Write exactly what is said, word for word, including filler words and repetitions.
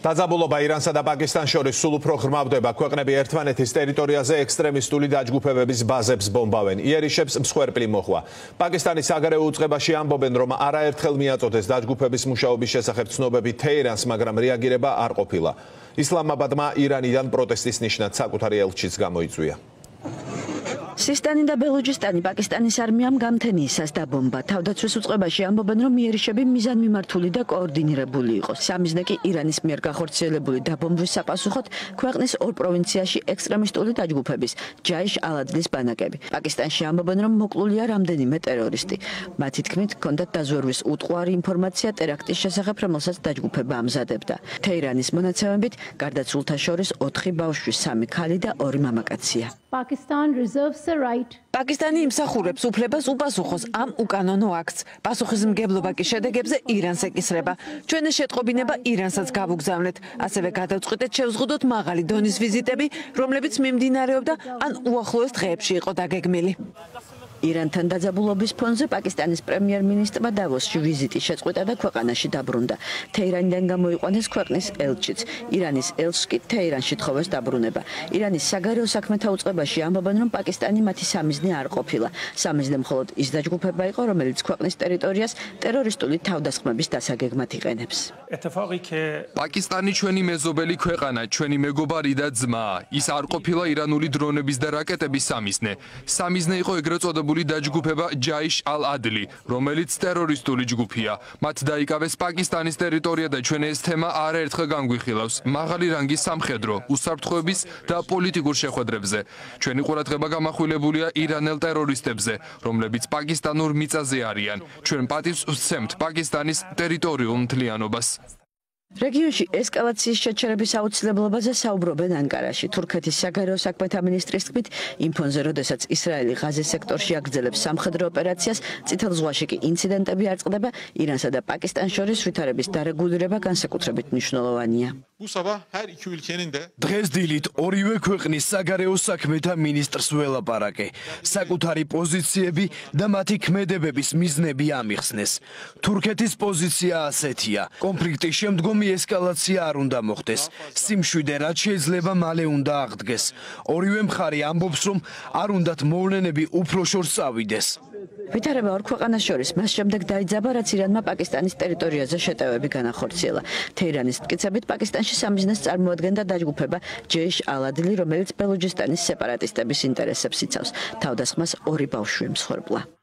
დაძაბულობა ირანსა და პაკისტანს შორის სულ უფრო ღრმავდება. ქვეყნები ერთმანეთის ტერიტორიაზე ექსტრემისტული დაჯგუფებების ბაზებს ბომბავენ. იერიშებს მსხვერპლი მოხვა. პაკისტანის საგარეო უწყებაში ამბობენ, რომ არაერთხელ მიაწოდეს დაჯგუფების მუშაობის შესახებ ცნობები თეირანს, მაგრამ რეაგირება არ ყოფილა. ისლამაბადმა ირანიდან პროტესტის ნიშნად საკუთარი ელჩიც გამოიწვია. სისტანი და ბელუჯისტანი პაკისტანის არმიამ გამთენიისას დაბომბა. თავდაცვის უწყებაში ამბობენ, რომ იერიშები მიზანმიმართული და კოორდინირებული იყო. სამიზნე კი ირანის მიერ გახორციელებული დაბომბვის საპასუხოდ ქვეყნის ორ პროვინციაში ექსტრემისტული დაჯგუფების ჯაიშ ალ-ადლის ბანაკები. პაკისტანში ამბობენ, რომ მოკლულია რამდენიმე ტერორისტი. მათი თქმით, ჰქონდათ დაზვერვის უტყუარი ინფორმაცია ტერაქტის შესახებ, რომელსაც დაჯგუფება ამზადებდა. თეირანის მონაცემებით, გარდაცვლთა შორის ოთხი ბავშვი, სამი ქალი და ორი მამაკაცია. Pakistan reserves the right. პაკისტანი იმსახურებს უფლებას უპასუხოს ამ უკანონო აქტს. პასუხისმგებლობა კი შედეგებზე ირანს ეკისრება. ჩვენი შეტყობინება ირანსაც გავუგზავნეთ. ასევე გადავწყვიტეთ შევზღუდოთ მაღალი დონის ვიზიტები, რომლებიც მიმდინარეობდა ან უახლოეს დღეებში იყო დაგეგმილი. ირანთან დაძაბულობის ფონზე პაკისტანის პრემიერ-მინისტრმა დავოსში ვიზიტი შეწყვიტა და ქვეყანაში დაბრუნდა. თეირანიდან გამოიყვანეს ქვეყნის ელჩიც. ირანის ელჩს კი თეირანში თხოვეს დაბრუნება. ირანის საგარეო საქმეთა უწყებაში ამბობენ, რომ პაკისტანი მათი სამიზნე არ ყოფილა. სამიზნე მხოლოდ ის დაჯგუფება იყო, რომელიც ქვეყნის ტერიტორიას ტერორისტული თავდასხმების დასაგეგმად იყენებს. პაკისტანი ჩვენი მეზობელი ქვეყანა, ჩვენი მეგობარი და ძმა. ის არ ყოფილა ირანული დრონების და რაკეტების სამიზნე. სამიზნე იყო ეგრეთ წოდებული დაჯგუფება ჯაიშ ალ-ადლი, რომელიც ტერორისტული ჯგუფია. მათ დაიკავეს პაკისტანის ტერიტორია და ჩვენ ეს თემა არაერთხელ განგვიხილავს. მაღალი რანგის სამხედრო, უსაფრთხოების და პოლიტიკურ შეხვედრებზე. ჩვენი ყურადღება გამახვილებულია ირანელ ტერორისტებზე, რომლებიც პაკისტანურ მიწაზე არიან. ჩვენ პატივს ვსცემთ პაკისტანის ტერიტორიულ მთლიანობას. რეგიონში ესკალაციის შეჩერების აუცილებლობაზე საუბრობენ ანკარაში. თურქეთის საგარეო საქმეთა მინისტრის თქმით, იმ ფონზე, როდესაც ისრაელი ღაზის სექტორში აგრძელებს სამხედრო ოპერაციას, წითელ ზღვაში კი ინციდენტები არ წყდება, ირანსა და პაკისტანს შორის ვითარების დარეგულირება განსაკუთრებით მნიშვნელოვანია. დღეს დილით ორივე ქვეყნის საგარეო საქმეთა მინისტრს ველაპარაკე. საკუთარი პოზიციები და მათი ქმედებების მიზნები ამიხსნეს. თურქეთის პოზიცია ასეთია. კონფლიქტის შემდგომი ესკალაცია არ უნდა მოხდეს. სიმშვიდე რაც შეიძლება მალე უნდა აღდგეს. ორივე მხარე ამბობს, რომ არ უნდათ მოვლენები უფრო შორს წავიდეს. ვითარება ორ ქვეყანას შორის მას შემდეგ დაიძაბა, რაც ირანმა პაკისტანის ტერიტორიაზე შეტევები განახორციელა. თეირანის მტკიცებით, პაკისტანში სამიზნეს წარმოადგენდა დაჯგუფება ჯეიშ ალ-ადლი, რომელიც ბელუჯისტანის სეპარატისტების ინტერესებს იცავს. თავდასხმას ორი ბავშვი მსხვერპლა.